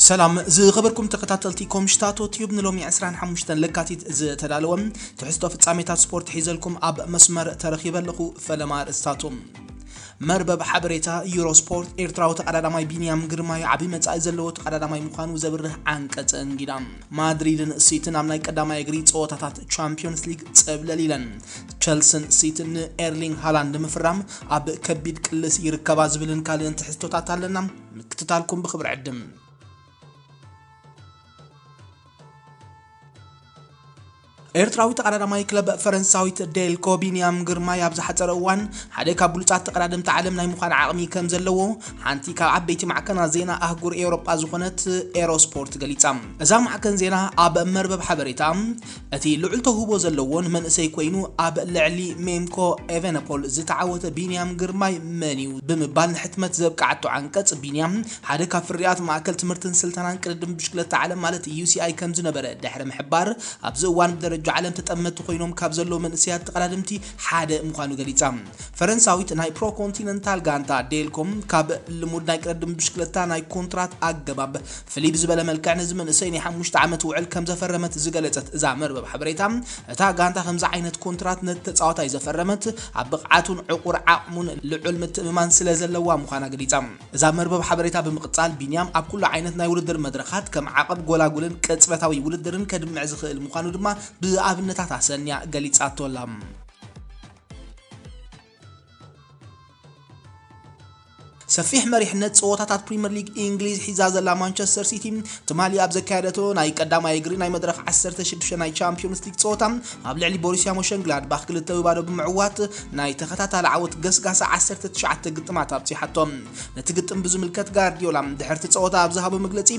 ሰላም ዝኸበርኩም ተኸታተልቲ ኮምሽታቶ ቲዩብ፣ ንሎሚ ዕስራን ሓሙሽተን ለካቲት ዝተዳለወ ትሕዝቶ ፍጻሜታት ስፖርት ሒዘልኩም ኣብ መስመር ተረኺበ ኣለኹ። ፈለማ ኣርእስታቶም። መርበብ ሓበሬታ ዩሮስፖርት፣ ኤርትራዊ ተቐዳዳማይ ቢንያም ግርማይ ዓቢ መጻኢ ዘለዎ ተቐዳዳማይ ምዃኑ ዘብርህ ዓንቀጽ እንጊዳ። ማድሪድን ሲቲን ኣብ ናይ ቀዳማይ እግሪ ጸወታታት ቻምፒዮንስ ሊግ ጸብለል ኢለን። ቸልስን ሲቲን ንኤርሊንግ ሃላንድ ምፍራም ኣብ ከቢድ ቅልስ ይርከባ ዝብልን ካልእን ትሕዝቶታት ኣለና። ምክትታልኩም ብኽብሪ ዕድም። ኤርትራዊ ተቐዳዳማይ ክለብ ፈረንሳዊት ዴልኮ ቢንያም ግርማይ ኣብ ዝሓጸረ እዋን ሓደ ካብ ብሉጻት ተቐዳደምቲ ዓለም ናይ ምዃን ዓቕሚ ከም ዘለዎ ሓንቲ ካብ ዓበይቲ ማዕከናት ዜና ኣህጉር ኤውሮጳ ዝኾነት ኤሮስፖርት ገሊጻ። እዛ ማዕከን ዜና ኣብ መርበብ ሓበሬታ፣ እቲ ልዑል ተውህቦ ዘለዎ ንመንእሰይ ኮይኑ ኣብ ልዕሊ ሜምኮ ኤቨነፖል ዝተዓወተ ቢንያም ግርማይ መን እዩ ብምባል ንሕትመት ዘብቃዓቶ ዓንቀጽ፣ ቢንያም ሓደ ካብ ፍርያት ማእከል ትምህርትን ስልጠናን ቅድድም ብሽክለታ ዓለም ማለት ዩ ሲ ኣይ ከም ዝነበረ ድሕሪ ምሕባር፣ ኣብዚ እዋን ብደረጃ ዓለም ተጠመቲ ኮይኖም ካብ ዘለዉ መንእሰያት ተቐዳደምቲ ሓደ ምዃኑ ገሊጻ። ፈረንሳዊት ናይ ፕሮ ኮንቲነንታል ጋንታ ዴልኮም ካብ ልሙድ ናይ ቅድድም ብሽክለታ ናይ ኮንትራት ኣገባብ ፍልይ ብዝበለ መልክዕ ነዚ መንእሰይ ናይ ሓሙሽተ ዓመት ውዕል ከም ዘፈረመት ዝገለጸት እዛ መርበብ ሓበሬታ፣ እታ ጋንታ ከምዚ ዓይነት ኮንትራት ነቲ ተጻዋታይ ዘፈረመት ኣብ ብቕዓቱን ዕቑር ዓቕሙን ልዑል ምትእምማን ስለ ዘለዋ ምዃና ገሊጻ። እዛ መርበብ ሓበሬታ ብምቕጻል፣ ቢንያም ኣብ ኩሉ ዓይነት ናይ ውድድር መድረኻት ከም ዓቐብ ጎላጉልን ቅጽበታዊ ውድድርን ከድምዕ ዝኽእል ምዃኑ ድማ ብኣብነታት ኣሰንያ ገሊጻቶ ኣላ። ሰፊሕ መሪሕነት ጸወታታት ፕሪምየር ሊግ እንግሊዝ ሒዛ ዘላ ማንቸስተር ሲቲ፣ ትማሊ ኣብ ዘካየደቶ ናይ ቀዳማይ እግሪ ናይ መድረኽ ዓሰርተ ሽዱሽተ ናይ ቻምፒዮንስ ሊግ ጸወታ ኣብ ልዕሊ ቦሩስያ ሞሸንግላድባኽ ክልተ ብባዶ ብምዕዋት፣ ናይ ተኸታታሊ ዓወት ገስጋሳ ዓሰርተ ትሽዓተ ግጥማት ኣብጺሓቶ። ነቲ ግጥም ብዝምልከት ጋርዲዮላ ድሕርቲ ጸወታ ኣብ ዝሃቦ መግለጺ፣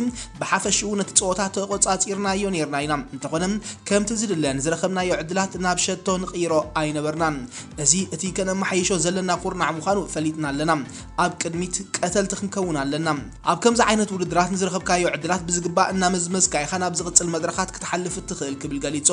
ብሓፈሽኡ ነቲ ጸወታ ተቖጻጺርናዮ ኔርና ኢና። እንተኾነ፣ ከምቲ ዝድለ ንዝረኸብናዮ ዕድላት ናብ ሸቶ ንቕይሮ ኣይነበርናን። እዚ እቲ ከነመሓይሾ ዘለና ኩርናዕ ምዃኑ ፈሊጥና ኣለና። ኣብ ቅድሚት ቀተልቲ ክንከውን ኣለና። ኣብ ከምዚ ዓይነት ውድድራት ንዝረኸብካዮ ዕድላት ብዝግባእ እናመዝመዝካ ኢኻ ናብ ዝቕጽል መድረኻት ክትሓልፍ እትኽእል ክብል ገሊጹ።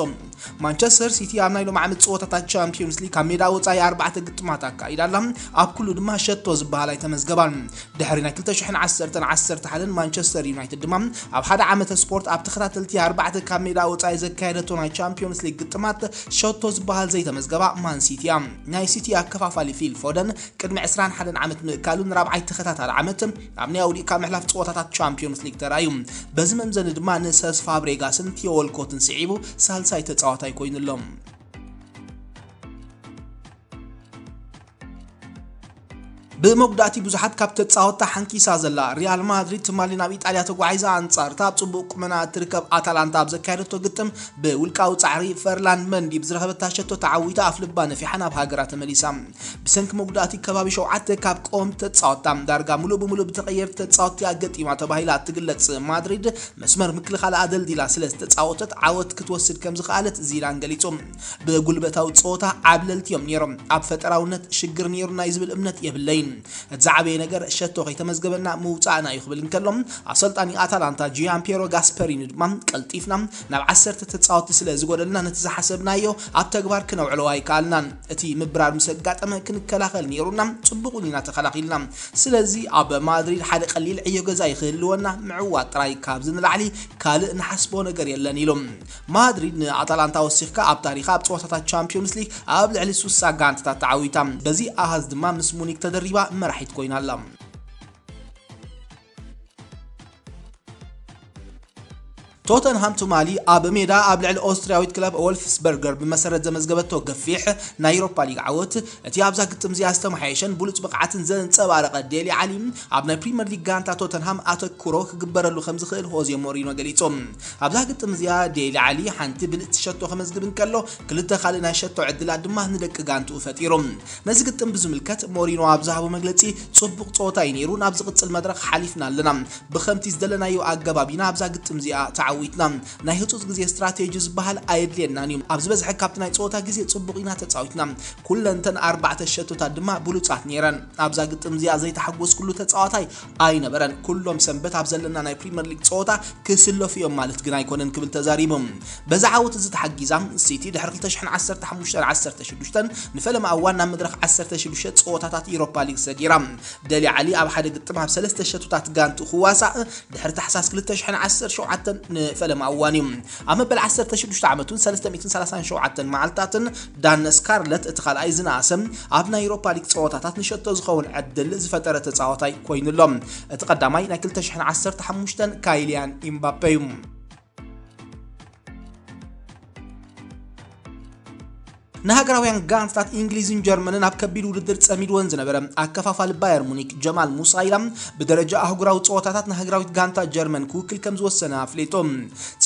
ማንቸስተር ሲቲ ኣብ ናይ ሎም ዓመት ጸወታታት ቻምፒዮንስ ሊግ ካብ ሜዳ ወጻኢ ኣርባዕተ ግጥማት ኣካይዳ ኣላ። ኣብ ኩሉ ድማ ሸቶ ዝበሃል ኣይተመዝገባን። ድሕሪ ናይ ክልተ ሽሕን ዓሰርተን ዓሰርተ ሓደን ማንቸስተር ዩናይትድ ድማ ኣብ ሓደ ዓመተ ስፖርት ኣብ ተኸታተልቲ ኣርባዕተ ካብ ሜዳ ወጻኢ ዘካየደቶ ናይ ቻምፒዮንስ ሊግ ግጥማት ሸቶ ዝበሃል ዘይተመዝገባ ማን ሲቲ እያ። ናይ ሲቲ ኣከፋፋሊ ፊል ፎደን ቅድሚ ዕስራን ሓደን ዓመት ምእካሉ ንራብዓይ ተኸታታሊ ዓመት ኣብ ናይ ኣውዲእካ ምሕላፍ ጸወታታት ቻምፒዮንስ ሊግ ተራእዩ። በዚ መምዘኒ ድማ ንሰስ ፋብሬጋስን ቲዮ ወልኮትን ስዒቡ ሳልሳይ ተጻዋታይ ኮይኑ ኣሎ። ብመጉዳእቲ ብዙሓት ካብ ተጻወትታ ሓንኪሳ ዘላ ሪያል ማድሪድ ትማሊ ናብ ኢጣልያ ተጓዒዛ ኣንጻርታ ኣብ ጽቡቕ ቁመና እትርከብ ኣታላንታ ኣብ ዘካየደቶ ግጥም ብውልቃዊ ጻዕሪ ፈርላንድ መንዲ ብዝረኸበታ ሸቶ ተዓዊታ ኣፍ ልባ ነፊሓ ናብ ሃገራ ተመሊሳ። ብሰንኪ መጉዳእቲ ከባቢ ሸውዓተ ካብ ቀወምቲ ተጻወትታ ዳርጋ ሙሉእ ብሙሉእ ብተቐየርቲ ተጻወትቲ ኣገጢማ ተባሂላ እትግለጽ ማድሪድ መስመር ምክልኻል ኣደልዲላ ስለ ዝተጻወተት ዓወት ክትወስድ ከም ዝኸኣለት ዚዳን ገሊጹ። ብጉልበታዊ ጸወታ ዓብለልቲ እዮም ነይሮም። ኣብ ፈጠራውነት ሽግር ነይሩና እዩ ዝብል እምነት የብለይን። እቲ ዝዓበየ ነገር ሸቶ ከይተመዝገበና ምውጻእና እዩ ክብል እንከሎ፣ ኣሰልጣኒ ኣታላንታ ጂያን ፒየሮ ጋስፐሪኒ ድማ ቀልጢፍና ናብ ዓሰርተ ተጻወትቲ ስለ ዝጎደልና ነቲ ዝሓሰብናዮ ኣብ ተግባር ክነውዕሎ ኣይከኣልናን። እቲ ምብራር ምስ ኣጋጠመ ክንከላኸል ነይሩና፣ ጽቡቕ እውን ኢና ተኸላኺልና። ስለዚ ኣብ ማድሪድ ሓደ ቀሊል ዕዮ ገዛ ይክህልወና፣ ምዕዋት ጥራይ ካብዚ ንላዕሊ ካልእ ንሓስቦ ነገር የለን ኢሉ። ማድሪድ ንኣታላንታ ወሲኽካ ኣብ ታሪኻ ኣብ ጸወታታት ቻምፒዮንስ ሊግ ኣብ ልዕሊ ሱሳ ጋንታታት ተዓዊታ። በዚ ኣሃዝ ድማ ምስ ሙኒክ ተደሪባ መራሒት ኮይና ኣላ። ቶተንሃም ትማሊ ኣብ ሜዳ ኣብ ልዕሊ ኦስትርያዊት ክለብ ወልፍስበርገር ብመሰረት ዘመዝገበቶ ገፊሕ ናይ ዩሮፓ ሊግ ዓወት፣ እቲ ኣብዛ ግጥም እዚኣ ዝተመሓየሸን ብሉጽ ብቕዓትን ዘንጸባረቐ ዴሊ ዓሊ ኣብ ናይ ፕሪምየር ሊግ ጋንታ ቶተንሃም ኣተኩሮ ክግበረሉ ከም ዝኽእል ሆዜ ሞሪኖ ገሊጹ። ኣብዛ ግጥም እዚኣ ዴሊ ዓሊ ሓንቲ ብልጽቲ ሸቶ ከመዝግብ እንከሎ፣ ክልተ ካልእ ናይ ሸቶ ዕድላት ድማ ንደቂ ጋንትኡ ፈጢሩ። ነዚ ግጥም ብዝምልከት ሞሪኖ ኣብ ዝሃቦ መግለጺ፣ ጽቡቕ ጸወታ እዩ ነይሩ፣ ናብ ዝቕጽል መድረኽ ሓሊፍና ኣለና። ብኸምቲ ዝደለናዮ ኣገባብ ኢና ኣብዛ ግጥም እዚኣ ተዓዊትና። ተዓዊትና። ናይ ህጹጽ ግዜ ስትራቴጂ ዝበሃል ኣየድልየናን እዩ። ኣብ ዝበዝሐ ካብቲ ናይ ጸወታ ግዜ ጽቡቕ ኢና ተጻዊትና። ኩለንተን ኣርባዕተ ሸቶታት ድማ ብሉጻት ነይረን። ኣብዛ ግጥም እዚኣ ዘይተሓጎስኩሉ ተጻዋታይ ኣይነበረን። ኩሎም ሰንበት ኣብ ዘለና ናይ ፕሪምየር ሊግ ጸወታ ክስለፉ እዮም ማለት ግን ኣይኮነን ክብል ተዛሪቡ። በዚ ዓወት እዚ ተሓጊዛ ሲቲ ድሕሪ ክልተ ሽሕን ዓሰርተ ሓሙሽተን ዓሰርተ ሽዱሽተን ንፈለማ እዋን ናብ መድረኽ ዓሰርተ ሽዱሽተ ጸወታታት ኢሮፓ ሊግ ሰጊራ። ደሊ ዓሊ ኣብ ሓደ ግጥም ኣብ ሰለስተ ሸቶታት ጋንቱ ክዋሳእ ድሕሪ ታሕሳስ ክልተ ሽሕን ዓሰርተ ሸውዓተን ንፈለማ እዋን እዩ። ኣብ መበል ዓሰርተ ሽዱሽተ ዓመቱን ሰለስተ ሚእትን ሰላሳን ሸውዓተን መዓልታትን ዳን ስካርለት እቲ ካልኣይ ዝነኣሰ ኣብ ናይ ኢሮፓ ሊግ ጸወታታት ንሸቶ ዝኸውን ዕድል ዝፈጠረ ተጻዋታይ ኮይኑ ኣሎ። እቲ ቀዳማይ ናይ ክልተ ሽሕን ዓሰርተ ሓሙሽተን ካይልያን ኢምባፔ እዩ። ንሃገራውያን ጋንታታት እንግሊዝን ጀርመንን ኣብ ከቢድ ውድድር ጸሚድወን ዝነበረ ኣከፋፋሊ ባየር ሙኒክ ጀማል ሙሳይላ ብደረጃ ኣህጉራዊ ጸወታታት ንሃገራዊት ጋንታ ጀርመን ክውክል ከም ዝወሰነ ኣፍሊጡ።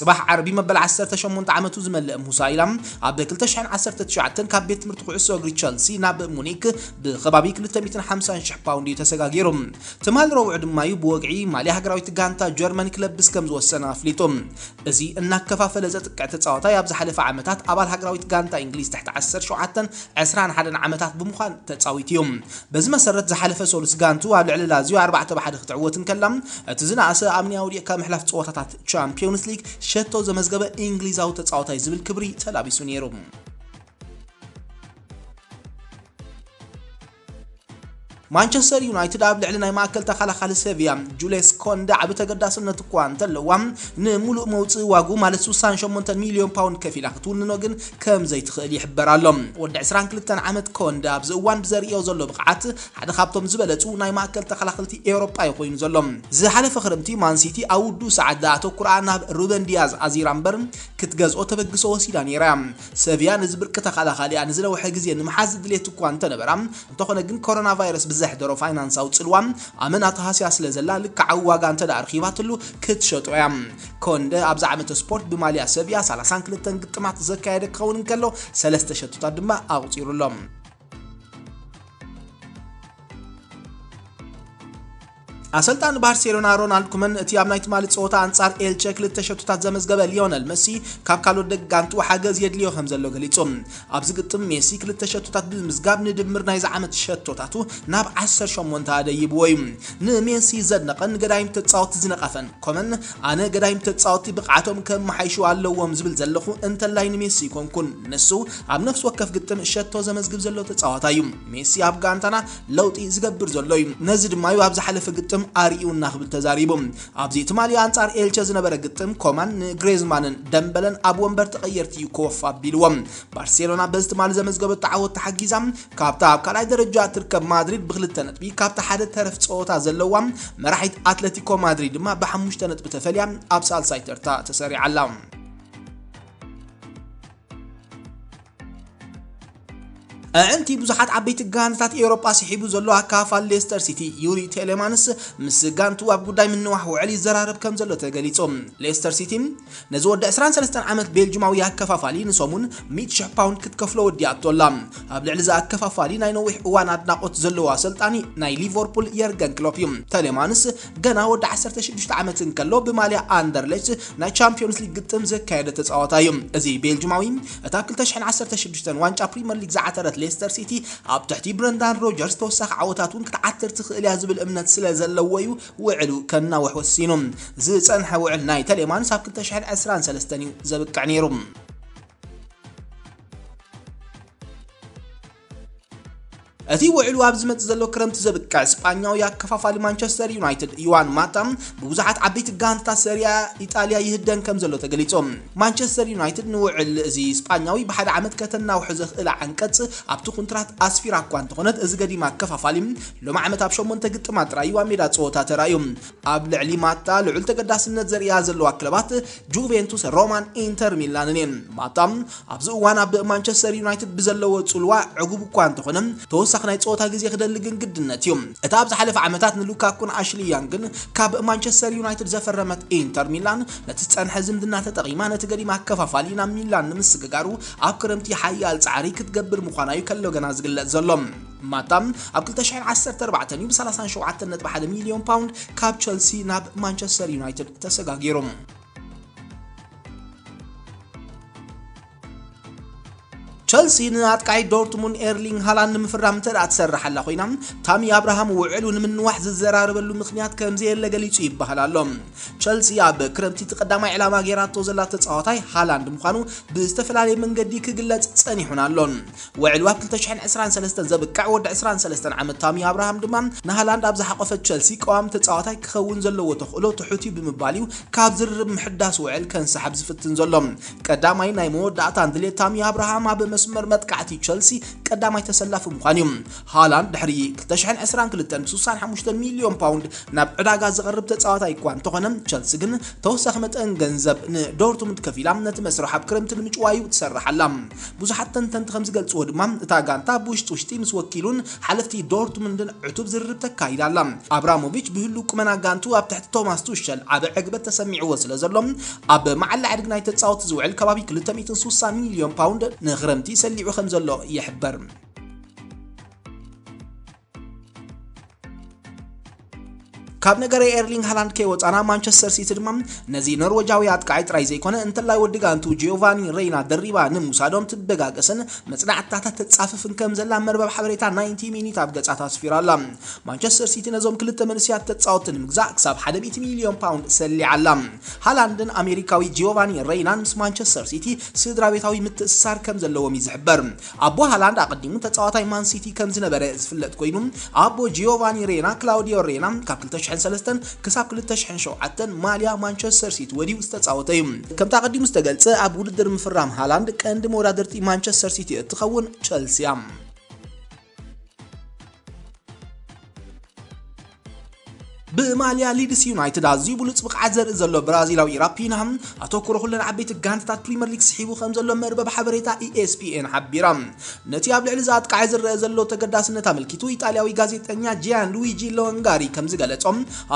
ጽባሕ ዓርቢ መበል ዓሰርተ ሸሞንተ ዓመቱ ዝመልእ ሙሳይላ ኣብ ክልተ ሽሕን ዓሰርተ ትሽዓተን ካብ ቤት ትምህርቲ ኩዕሶ እግሪ ቸልሲ ናብ ሙኒክ ብከባቢ ክልተ ሚእትን ሓምሳን ሽሕ ፓውንድ እዩ ተሰጋጊሩ። ትማል ረቡዕ ድማ እዩ ብወግዒ ማልያ ሃገራዊት ጋንታ ጀርመን ክለብስ ከም ዝወሰነ ኣፍሊጡ። እዚ እናከፋፈለ ዘጥቅዕ ተጻዋታይ ኣብ ዝሓለፈ ዓመታት ኣባል ሃገራዊት ጋንታ እንግሊዝ ትሕቲ ዓሰርተ ሸውዓተን ዕስራን ሓደን ዓመታት ብምዃን ተጻዊቱ እዩ። በዚ መሰረት ዝሓለፈ ሰሉስ ጋንቱ ኣብ ልዕሊ ላዚዮ ኣርባዕተ ብሓደ ክትዕወት እንከላ፣ እቲ ዝነኣሰ ኣብ ናይ ኣውዲቕካ ምሕላፍ ጸወታታት ቻምፒዮንስ ሊግ ሸቶ ዘመዝገበ እንግሊዛዊ ተጻዋታይ ዝብል ክብሪ ተላቢሱ ነይሩ። ማንቸስተር ዩናይትድ ኣብ ልዕሊ ናይ ማእከል ተኸላኻሊ ሰቪያ ጁልየስ ኮንደ ዓቢ ተገዳስነት እኳ እንተለዋ፣ ንምሉእ መውጽኢ ዋጉ ማለት ስሳን ሸሞንተን ሚልዮን ፓውንድ ከፊላ ክትውንኖ ግን ከም ዘይትኽእል ይሕበር ኣሎ። ወዲ ዕስራን ክልተን ዓመት ኮንደ ኣብዚ እዋን ብዘርእዮ ዘሎ ብቕዓት ሓደ ካብቶም ዝበለጹ ናይ ማእከል ተኸላኸልቲ ኤውሮጳ እዩ ኮይኑ ዘሎ። ዝሓለፈ ክረምቲ ማንሲቲ ኣብ ውዱእ ሰዓት ዝኣተኩራ ናብ ሩበን ዲያዝ ኣዚራ እምበር ክትገዝኦ ተበግሶ ወሲዳ ነይራ እያ። ሰቪያ ነዚ ብርቂ ተኸላኻሊኣ ንዝነውሐ ግዜ ንምሓዝ ድሌት እኳ እንተነበራ፣ እንተኾነ ግን ኮሮና ቫይረስ ብዘሕደሮ ፋይናንሳዊ ጽልዋ ኣመና ተሃስያ ስለ ዘላ ልክዓዊ ዋጋ እንተ ደኣ ኣርኺባትሉ ክትሸጦ እያ። ኮንደ ኣብዚ ዓመተ ስፖርት ብማልያ ሰቪያ ሰላሳን ክልተን ግጥማት ዘካየደ ክኸውን እንከሎ ሰለስተ ሸቶታት ድማ ኣቑጺሩ ኣሎ። ኣሰልጣኒ ባርሴሎና ሮናልድ ኩመን እቲ ኣብ ናይ ትማሊ ጸወታ ኣንጻር ኤልቸ ክልተ ሸቶታት ዘመዝገበ ሊዮነል መሲ ካብ ካልኦት ደጋንቱ ሓገዝ የድልዮ ከም ዘሎ ገሊጹ። ኣብዚ ግጥም ሜሲ ክልተ ሸቶታት ብምምዝጋብ ንድምር ናይዚ ዓመት ሸቶታቱ ናብ ዓሰርተ ሸሞንተ ኣደይብዎ እዩ። ንሜሲ ዘድነቐን ንገዳይም ተጻወቲ ዝነቐፈን ኮመን፣ ኣነ ገዳይም ተጻወቲ ብቕዓቶም ከመሓይሹ ኣለዎም ዝብል ዘለኹ እንተላይ ንሜሲ ይኮንኩን። ንሱ ኣብ ነፍሲ ወከፍ ግጥም ሸቶ ዘመዝግብ ዘሎ ተጻዋታይ እዩ። ሜሲ ኣብ ጋንታና ለውጢ ዝገብር ዘሎ እዩ። ነዚ ድማ እዩ ኣብ ዝሓለፈ ግጥም ኣርእዩና ክብል ተዛሪቡ። ኣብዚ ትማሊ ኣንጻር ኤልቸ ዝነበረ ግጥም ኮማን ንግሬዝማንን ደምበለን ኣብ ወንበር ተቐየርቲ እዩ ኮፍ ኣቢልዎም። ባርሴሎና በዚ ትማሊ ዘመዝገበቶ ዓወት ተሓጊዛ ካብታ ኣብ ካልኣይ ደረጃ እትርከብ ማድሪድ ብክልተ ነጥቢ ካብቲ ሓደ ተረፍ ጸወታ ዘለዋ መራሒት ኣትለቲኮ ማድሪድ ድማ ብሓሙሽተ ነጥቢ ተፈልያ ኣብ ሳልሳይ ተርታ ተሰሪዓ ኣላ። ኣዕንቲ ብዙሓት ዓበይቲ ጋንታት ኤውሮጳ ስሒቡ ዘሎ ኣካፋል ሌስተር ሲቲ ዩሪ ቴሌማንስ ምስ ጋንቱ ኣብ ጉዳይ ምንዋሕ ውዕል ይዘራረብ ከም ዘሎ ተገሊጹ። ሌስተር ሲቲ ነዚ ወዲ ዕስራን ሰለስተን ዓመት ቤልጅማዊ ኣከፋፋሊ ንሰሙን ሚእቲ ሽሕ ፓውንድ ክትከፍሎ ወዲኣቶ ኣላ። ኣብ ልዕሊ እዚ ኣከፋፋሊ ናይ ነዊሕ እዋን ኣድናቖት ዘለዎ ኣሰልጣኒ ናይ ሊቨርፑል የርገን ክሎፕ እዩ። ተሌማንስ ገና ወዲ ዓሰርተ ሽዱሽተ ዓመት እንከሎ ብማልያ ኣንደርሌች ናይ ቻምፒዮንስ ሊግ ግጥም ዘካየደ ተጻዋታይ እዩ። እዚ ቤልጅማዊ እታ ክልተ ሽሕን ዓሰርተ ሽዱሽተን ዋንጫ ፕሪምየር ሊግ ዝዓተረት ሌስተር ሲቲ ኣብ ትሕቲ ብረንዳን ሮጀርስ ተወሳኺ ዓወታት እውን ክትዓትር ትኽእል እያ ዝብል እምነት ስለ ዘለዎ እዩ ውዕሉ ከናውሕ ወሲኑ። ዝጸንሐ ውዕል ናይ ተሌማንስ ኣብ ክልተ ሽሕን ዕስራን ሰለስተን እዩ ዘብቅዕ ነይሩ። እቲ ውዕሉ ኣብ ዝመጽእ ዘሎ ክረምቲ ዘብቅዕ ስጳኛዊ ኣከፋፋሊ ማንቸስተር ዩናይትድ ዮዋን ማታ ብብዙሓት ዓበይቲ ጋንታት ሰሪያ ኢጣልያ ይህደን ከም ዘሎ ተገሊጹ። ማንቸስተር ዩናይትድ ንውዕል እዚ ስጳኛዊ ብሓደ ዓመት ከተናውሑ ዘኽእል ዓንቀጽ ኣብቲ ኩንትራት ኣስፊራ እኳ እንተኾነት፣ እዚ ገዲም ኣከፋፋሊ ሎም ዓመት ኣብ ሸሞንተ ግጥማት ጥራይ እዩ ኣብ ሜዳ ጸወታ ተራእዩ። ኣብ ልዕሊ ማታ ልዑል ተገዳስነት ዘርእያ ዘለዋ ክለባት ጁቬንቱስ፣ ሮማን ኢንተር ሚላንን እየን። ማታ ኣብዚ እዋን ኣብ ማንቸስተር ዩናይትድ ብዘለዎ ጽልዋ ዕጉብ እኳ እንተኾነ፣ ተወሳኺ ናይ ጸወታ ግዜ ክደሊ ግን ግድነት እዩ። እቲ ኣብ ዝሓለፈ ዓመታት ንሉካኩን ኣሽሊ ያንግን ካብ ማንቸስተር ዩናይትድ ዘፈረመት ኢንተር ሚላን፣ ነቲ ዝጸንሐ ዝምድና ተጠቒማ ነቲ ገዲም ኣከፋፋሊ ናብ ሚላን ንምስግጋሩ ኣብ ክረምቲ ሓያል ጻዕሪ ክትገብር ምዃና እዩ ከሎ ገና ዝግለጽ ዘሎ። ማታ ኣብ ክልተ ሽሕን ዓሰርተ ኣርባዕተን እዩ ብ ሰላሳን ሸውዓተን ነጥቢ ሓደ ሚልዮን ፓውንድ ካብ ቸልሲ ናብ ማንቸስተር ዩናይትድ ተሰጋጊሩ። ቸልሲ ንኣጥቃዒ ዶርትሙንድ ኤርሊንግ ሃላንድ ንምፍራም እንተ ደኣ ትሰርሕ ኣላ ኮይና፣ ታሚ ኣብርሃም ውዕሉ ንምንዋሕ ዝዘራረበሉ ምኽንያት ከም ዘየለ ገሊጹ ይበሃል ኣሎ። ቸልሲ ኣብ ክረምቲ እቲ ቀዳማይ ዕላማ ገይራቶ ዘላ ተጻዋታይ ሃላንድ ምዃኑ ብዝተፈላለየ መንገዲ ክግለጽ ጸኒሑን ኣሎን። ውዕሉ ኣብ ክልተ ሽሕን ዕስራን ሰለስተን ዘብቅዕ ወዲ ዕስራን ሰለስተን ዓመት ታሚ ኣብርሃም ድማ ንሃላንድ ኣብ ዝሓቆፈት ቸልሲ ቀዋሚ ተጻዋታይ ክኸውን ዘለዎ ተኽእሎ ትሑት እዩ ብምባል እዩ ካብ ዝርርብ ምሕዳስ ውዕል ከንሰሓብ ዝፍትን ዘሎ። ቀዳማይ ናይ መወዳእታን ድሌት ታሚ ኣብርሃም ኣብ መስመር መጥቃዕቲ ቸልሲ ቀዳማይ ተሰላፊ ምዃን እዩ። ሃላንድ ድሕሪ ክልተ ሽሕን ዕስራን ክልተን ብ ሱሳን ሓሙሽተን ሚልዮን ፓውንድ ናብ ዕዳጋ ዝቐርብ ተጻዋታይ እኳ እንተኾነ፣ ቸልሲ ግን ተወሳኺ መጠን ገንዘብ ንዶርትሙንድ ከፊላ ነቲ መስርሕ ኣብ ክረምቲ ንምጭዋዩ ትሰርሕ ኣላ። ብዙሓት ተንተንቲ ከም ዝገልጽዎ ድማ፣ እታ ጋንታ ብውሽጢ ውሽጢ ምስ ወኪሉን ሓለፍቲ ዶርትሙንድን ዕቱብ ዝርርብ ተካይዳ ኣላ። ኣብራሞቪች ብህሉው ቁመና ጋንቱ ኣብ ትሕቲ ቶማስ ቱሸል ዓቢ ዕግበት ተሰሚዕዎ ስለ ዘሎ፣ ኣብ መዓላ ዕድግ ናይ ተጻወቲ ዝውዕል ከባቢ ክልተ ሚእትን ሱሳን ሚልዮን ፓውንድ ንኽረምቲ ሰሊዑ ከም ዘሎ ይሕበር። ካብ ነገረ ኤርሊንግ ሃላንድ ከይወጻና፣ ማንቸስተር ሲቲ ድማ ነዚ ኖርወጃዊ ኣጥቃዒ ጥራይ ዘይኮነ፣ እንተላይ ወዲ ጋንቱ ጂዮቫኒ ሬይና ደሪባ ንምውሳዶም ትበጋገስን መጽናዕትታታት ተጻፍፍን ከም ዘላ መርበብ ሓበሬታ ናይንቲ ሚኒት ኣብ ገጻታ ኣስፊራ ኣላ። ማንቸስተር ሲቲ ነዞም ክልተ መንስያት ተጻወትቲ ንምግዛእ ክሳብ ሓደ ሚእቲ ሚልዮን ፓውንድ ሰሊዓ ኣላ። ሃላንድን ኣሜሪካዊ ጂዮቫኒ ሬይናን ምስ ማንቸስተር ሲቲ ስድራ ቤታዊ ምትእስሳር ከም ዘለዎም እዩ ዝሕበር። ኣቦ ሃላንድ ኣቐዲሙ ተጻዋታይ ማን ሲቲ ከም ዝነበረ ዝፍለጥ ኮይኑ፣ ኣቦ ጂዮቫኒ ሬና፣ ክላውዲዮ ሬና፣ ካብ ክልተ ሽሕን ሰለስተን ክሳብ ክልተ ሽሕን ሸውዓተን ማልያ ማንቸስተር ሲቲ ወዲኡ ዝተጻወተ እዩ። ከምቲ ኣቐዲሙ ዝተገልጸ፣ ኣብ ውድድር ምፍራም ሃላንድ ቀንዲ መወዳደርቲ ማንቸስተር ሲቲ እትኸውን ቸልሲ እያ። ብማልያ ሊድስ ዩናይትድ ኣዝዩ ብሉጽ ብቕዓት ዘርኢ ዘሎ ብራዚላዊ ራፒና፣ ኣተኩሮ ኩለን ዓበይቲ ጋንታታት ፕሪምየር ሊግ ስሒቡ ከም ዘሎ መርበብ ሓበሬታ ኢኤስፒኤን ሓቢራ። ነቲ ኣብ ልዕሊ እዚ ኣጥቃዒ ዝረአ ዘሎ ተገዳስነት ኣመልኪቱ፣ ኢጣልያዊ ጋዜጠኛ ጂያን ሉዊጂ ሎንጋሪ ከም ዝገለጾ፣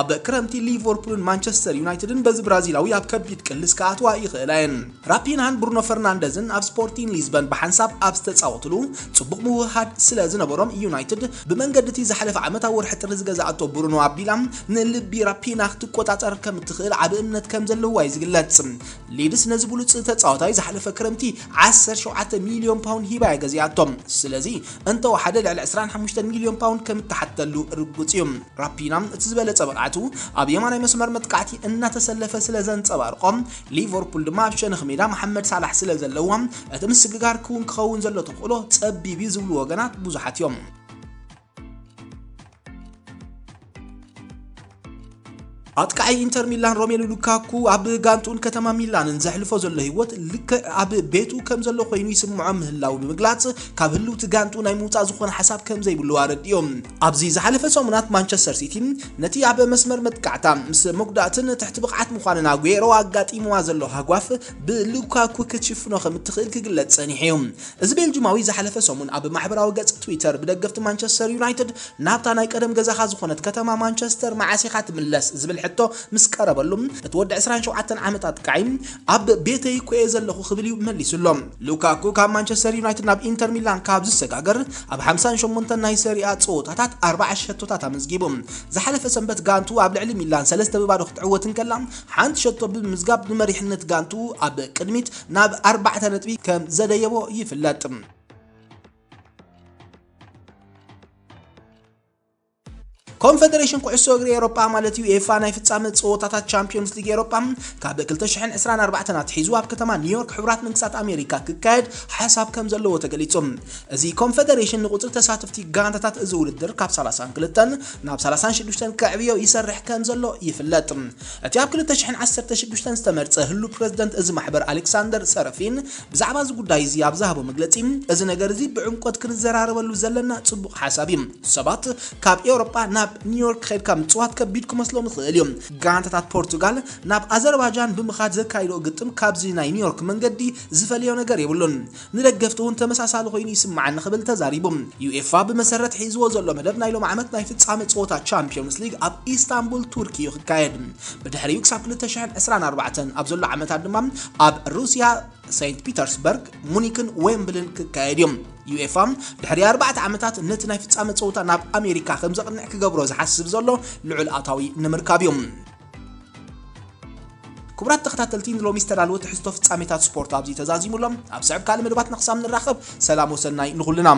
ኣብ ክረምቲ ሊቨርፑልን ማንቸስተር ዩናይትድን በዚ ብራዚላዊ ኣብ ከቢድ ቅልስ ክኣትዋ ይኽእላ እየን። ራፒናን ብሩኖ ፈርናንደዝን ኣብ ስፖርቲንግ ሊዝበን ብሓንሳብ ኣብ ዝተጻወትሉ፣ ጽቡቕ ምውህሃድ ስለ ዝነበሮም፣ ዩናይትድ ብመንገዲ እቲ ዝሓለፈ ዓመት ኣብ ወርሒ ጥሪ ዝገዛእቶ ብሩኖ ኣቢላ ንልቢ ራፒና ክትቆጻጸር ከም እትኽእል ዓቢ እምነት ከም ዘለዋ እዩ ዝግለጽ። ሊድስ ነዚ ብሉጽ ተጻዋታይ ዝሓለፈ ክረምቲ ዓሰርተ ሸውዓተ ሚልዮን ፓውንድ ሂባ እያ ገዚኣቶ። ስለዚ እንተወሓደ ልዕሊ ዕስራን ሓሙሽተን ሚልዮን ፓውንድ ከም እትሓተሉ ርጉጽ እዩ። ራፒና እቲ ዝበለጸ ብቕዓቱ ኣብ የማናይ መስመር መጥቃዕቲ እናተሰለፈ ስለ ዘንጸባርቖ፣ ሊቨርፑል ድማ ኣብ ሸነኽ ሜዳ መሓመድ ሳላሕ ስለ ዘለዋ፣ እቲ ምስግጋር ክውን ክኸውን ዘሎ ተኽእሎ ጸቢብ እዩ ዝብሉ ወገናት ብዙሓት እዮም። ኣጥቃዒ ኢንተር ሚላን ሮሜሉ ሉካኩ ኣብ ጋንቱን ከተማ ሚላንን ዘሕልፎ ዘሎ ህይወት ልክዕ ኣብ ቤቱ ከም ዘሎ ኮይኑ ይስምዖ ምህላው ብምግላጽ፣ ካብ ህልውቲ ጋንቱ ናይ ምውጻእ ዝኾነ ሓሳብ ከም ዘይብሉ ኣረዲኦም። ኣብዚ ዝሓለፈ ሰሙናት ማንቸስተር ሲቲ ነቲ ኣብ መስመር መጥቃዕታ ምስ መጉዳእትን ትሕቲ ብቕዓት ምዃንን ኣጉዌሮ ኣጋጢምዋ ዘሎ ሃጓፍ ብሉካኩ ክትሽፍኖ ከም እትኽእል ክግለጽ ጸኒሑ እዩ። እዚ ቤልጂማዊ ዝሓለፈ ሰሙን ኣብ ማሕበራዊ ገጽ ትዊተር ብደገፍቲ ማንቸስተር ዩናይትድ ናብታ ናይ ቀደም ገዛኻ ዝኾነት ከተማ ማንቸስተር መዓስ ኢኻ ትምለስ ዝብል ሕቶ ምስ ቀረበሉ፣ እቲ ወዲ ዕስራን ሸውዓተን ዓመት ኣጥቃዒ ኣብ ቤተይ እኮ እየ ዘለኹ ክብል እዩ መሊሱሎም። ሉካኩ ካብ ማንቸስተር ዩናይትድ ናብ ኢንተር ሚላን ካብ ዝሰጋገር ኣብ ሓምሳን ሸሞንተን ናይ ሰሪኣ ጸወታታት ኣርባዓ ሸቶታት ኣመዝጊቡ። ዝሓለፈ ሰንበት ጋንቱ ኣብ ልዕሊ ሚላን ሰለስተ ብባዶ ክትዕወት እንከላ፣ ሓንቲ ሸቶ ብምምዝጋብ ንመሪሕነት ጋንቱ ኣብ ቅድሚት ናብ ኣርባዕተ ነጥቢ ከም ዘደየቦ ይፍለጥ። ኮንፈደሬሽን ኩዕሶ እግሪ ኤሮጳ ማለት ዩኤፋ ናይ ፍጻመ ጸወታታት ቻምፒዮንስ ሊግ ኤሮጳ ካብ ክልተ ሽሕን ዕስራን ኣርባዕተን ኣትሒዙ ኣብ ከተማ ኒውዮርክ ሕቡራት መንግስታት ኣሜሪካ ክካየድ ሓሳብ ከም ዘለዎ ተገሊጹ። እዚ ኮንፈደሬሽን ንቁጽሪ ተሳተፍቲ ጋንታታት እዚ ውድድር ካብ ሰላሳን ክልተን ናብ ሰላሳን ሽዱሽተን ከዕብዮ ይሰርሕ ከም ዘሎ ይፍለጥ። እቲ ኣብ ክልተ ሽሕን ዓሰርተ ሽዱሽተን ዝተመርጸ ህሉ ፕረዚደንት እዚ ማሕበር ኣሌክሳንደር ሰረፊን ብዛዕባ እዚ ጉዳይ እዚ ኣብ ዝሃቦ መግለጺ፣ እዚ ነገር እዚ ብዕምቆት ክንዘራረበሉ ዘለና ጽቡቕ ሓሳብ እዩ። ሰባት ካብ ኤውሮጳ ናብ ኒውዮርክ ከድካ ምጽዋት ከቢድ ክመስሎም ይኽእል እዩ። ጋንታታት ፖርቱጋል ናብ ኣዘርባጃን ብምኻድ ዘካይዶ ግጥም ካብዚ ናይ ኒውዮርክ መንገዲ ዝፈልዮ ነገር የብሉን። ንደገፍቲ እውን ተመሳሳሊ ኮይኑ ይስምዓኒ ክብል ተዛሪቡ። ዩኤፋ ብመሰረት ሒዝዎ ዘሎ መደብ ናይ ሎም ዓመት ናይ ፍጻመ ጸወታ ቻምፒዮንስ ሊግ ኣብ ኢስታንቡል ቱርኪ እዩ ክካየድ። ብድሕሪኡ ክሳብ ክልተ ሽሕን ዕስራን ኣርባዕተን ኣብ ዘሎ ዓመታት ድማ ኣብ ሩስያ ሴንት ፒተርስበርግ፣ ሙኒክን ዌምብልን ክካየድ እዮም። ዩኤፋ ድሕሪ ኣርባዕተ ዓመታት ነቲ ናይ ፍጻመ ጸወታ ናብ ኣሜሪካ ከም ዘቕንዕ ክገብሮ ዝሓስብ ዘሎ ልዑል ኣታዊ ንምርካብ እዩ። ክቡራት ተኸታተልቲ፣ ንሎሚ ዝተዳለወ ትሕዝቶ ፍጻሜታት ስፖርት ኣብዚ ተዛዚሙ ኣሎ። ኣብ ስዕብ ካልእ መደባትና ክሳብ ንራኸብ፣ ሰላም ወሰናይ ንኹልና።